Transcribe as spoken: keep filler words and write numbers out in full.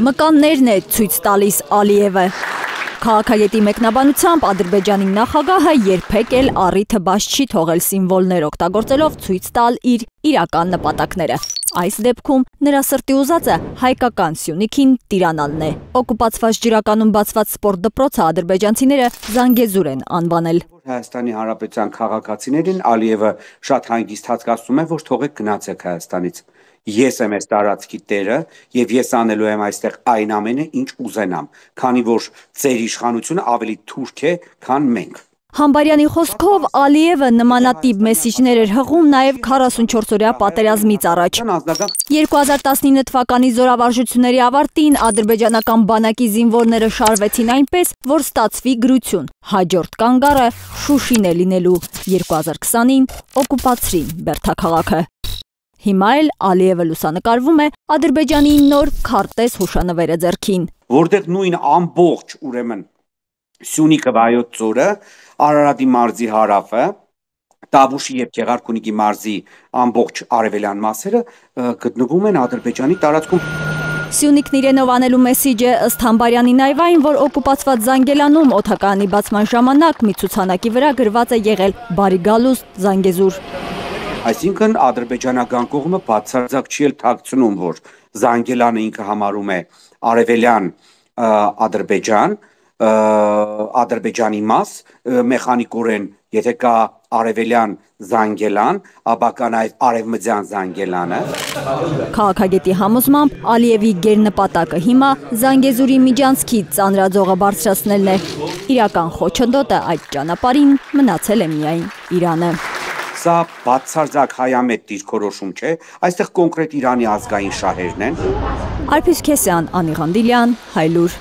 Մկաններն է ցույց տալիս Ալիևը։ Քաղաքագետի մեկնաբանությամբ Ադրբեջանի նախագահը երբեք էլ առիթը բաց չի թողել սիմվոլներ օգտագործելով ցույց տալ իր իրական նպատակները։ Այս դեպքում նրա սրտի ուզածը հայկական Սյունիքին տիրանալն է։ Օկուպացված ջրականում բացված սպորտ դպրոցը ադրբեջանցիները Զանգեզուր են անվանել։ Հայաստանի Հանրապետության քաղաքացիներին Ալիևը շատ հանգիստ հասկացնում է, որ թողեք գնացեք Հայաստանից։ Ես եմ այս տարածքի տերը եւ ես անելու եմ այստեղ այն ամենը, ինչ ուզենամ, քանի որ ձեր իշխանությունը ավելի թուրք է, քան մենք։ Համբարյանի խոսքով Ալիևը նմանատիպ մեսիջներ էր հղում նաև քառասունչորսօրյա պատերազմից առաջ։ երկու հազար տասնինը թվականի զորավարժությունների ավարտին ադրբեջանական բանակի զինվորները շարվեցին այնպես, որ ստացվի գրություն։ Հաջորդ կանգառը Շուշին է լինելու։ երկու հազար քսանին օկուպացրին Բերդաքաղաքը։ Հիմա էլ Ալիևը լուսանկարվում է Ադրբեջանի նոր քարտեզ հուշանվերը ձեռքին։ Որտեղ նույն ամբողջ ուրեմն Սյունիքը վայոց ձորը, Արարատի մարզի հարավը, Տավուշի եւ Գեղարքունիքի մարզի ամբողջ արևելյան մասերը գտնվում են Ադրբեջանի տարածքում։ Սյունիքն իրենով անելու մեսիջը ըստ Համբարյանի նաև այն, որ օկուպացված Զանգելանում օդակայանի բացման ժամանակ մի ցուցանակի վրա գրված է եղել «Բարի գալուստ Զանգեզուր»։ Այսինքն ադրբեջանական կողմը բացարձակ չի էլ թաքցնում, որ Զանգելանը ինքը համարում է արևելյան Ադրբեջան, Ադրբեջանի մաս, մեխանիկորեն, եթե կա արևելյան Զանգելան, ապա կան այդ արևմտյան Զանգելանը։ Քաղաքագետի համոզմամբ Ալիևի գերնպատակը հիմա Զանգեզուրի միջանցքից ծանրաձողը բարձրացնելն է։ Իրական խոչընդոտը այդ ճանապարհին մնացել է միայն Իրանը։ Սա բացարձակ հայամետ դիրքորոշում չէ, այստեղ կոնկրետ Իրանի ազգային շահերն են։ Արփիս Քեսյան, Անի Ղանդիլյան, Հայլուր։